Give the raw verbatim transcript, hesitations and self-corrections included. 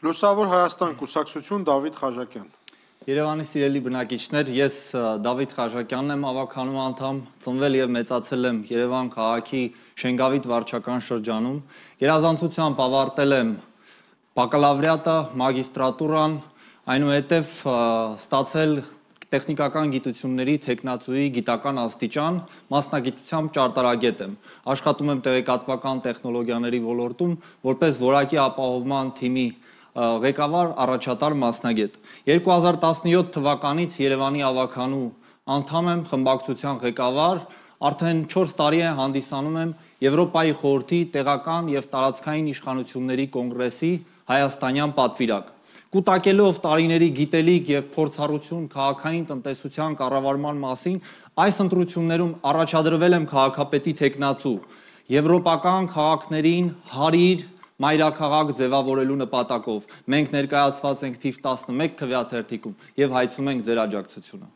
Լուսավոր Հայաստան կուսակցություն Դավիթ Խաչատյան։ Երևանի սիրելի բնակիչներ, ես Դավիթ Խաչատյանն եմ, ավականու անդամ, ծնվել եւ մեծացել եմ Երևան քաղաքի Շենգավիթ վարչական շրջանում։ Գերազանցությամբ ավարտել եմ բակալավրիատը, մագիստրատուրան, այնուհետև ստացել տեխնիկական գիտությունների թեկնածուի գիտական աստիճան, մասնագիտությամբ ճարտարագետ եմ։ Աշխատում եմ տեղեկատվական տեխնոլոգիաների ոլորտում որպես որակի ապահովման թիմի ղեկավար, առաջատար մասնագետ։ երկու հազար տասնյոթ թվականից Երևանի ավականու անդամ եմ, խմբակցության ղեկավար, արդեն չորս տարի է հանդիսանում եմ Եվրոպայի խորհրդի տեղական եւ տարածքային իշխանությունների կոնգրեսի հայաստանյան պատվիրակ։ Կուտակելով տարիների գիտելիք եւ փորձառություն քաղաքային տնտեսության կառավարման մասին, այս ընտրություններում առաջադրվել եմ քաղաքապետի թեկնածու, եվրոպական քաղաքներին հարիր մայրաքաղաք ձևավորելու նպատակով։ Մենք ներկայացված ենք թիվ տասնմեկ քվեաթերթիկում եւ հայցում ենք ձեր աջակցությունը։